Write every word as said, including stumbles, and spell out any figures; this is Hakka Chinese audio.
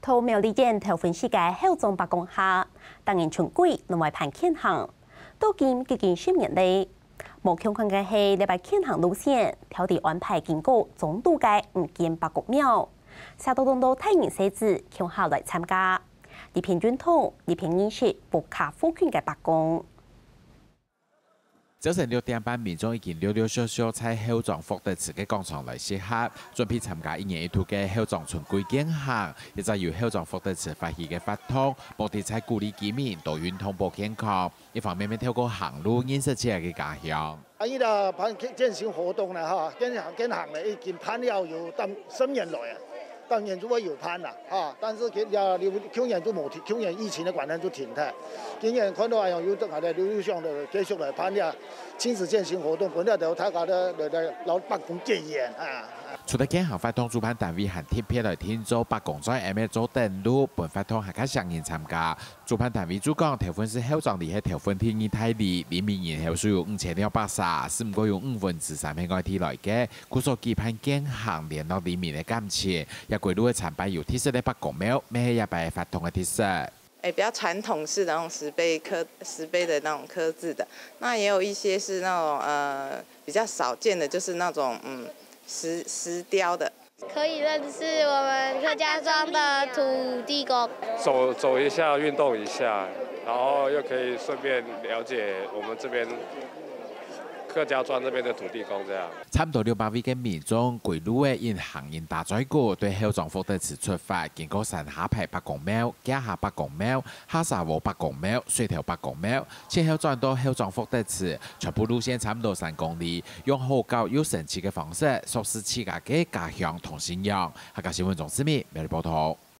在苗栗縣頭份市个後莊伯公下，逐年春季攏會辦健行，到今已經十年了。無共款个係，這擺健行路線特地安排經過中肚个五間伯公廟，寫到當多大人細子共下來參加，一片運動，一片認識屋下附近个伯公。 朝晨六點半，民眾已經陸陸續續在後莊福德祠个廣場來集合，準備參加一年一度个後莊春季健行，一隻由後莊福德祠發起个活動，目的在鼓勵居民多運動保健康，一方面也透過行路認識自家个家鄉。啊，伊个辦健健行活動呢，哈，健行健行呢，已經辦了有當十年來啊。 當然就會有辦啦，哈，但是今，啊，舊年就無停，舊年疫情个關係就停忒。今年看到恁樣有等下來，陸陸續續繼續來辦這親子健行活動，分了大家來，來，來，摎伯公結緣啊。除了健行活動，主辦單位還特別來訂做伯公在M A做等路，分活動還較少人參加。 主辦單位就講，頭份市後莊里係頭份第二大里，里面人口數有五千兩百儕，只毋過有五分之三係外地來个，故所舉辦健行聯絡里民个感情。這歸路个參拜有特色个伯公廟，乜係這擺活動个特色。誒，比較傳統式的那種石碑刻，石碑的那種刻字的，那也有一些是那種，呃，比較少見的，就是那種，嗯，石，石雕的。 可以認識我們客家莊的土地公。走，走一下，運動一下，然後又可以順便了解我們這邊客家莊這邊的土地公這樣。差毋多六百位个民眾，歸路仔用行人打嘴鼓，對後莊福德祠出發，經過山下排伯公廟、架下伯公廟、下沙窩伯公廟、水頭伯公廟、 最後轉到後莊福德祠，全部路線差毋多三公里，用好搞又生趣个方式，熟識自家个家鄉同信仰。客家新聞鍾思明，苗栗報導。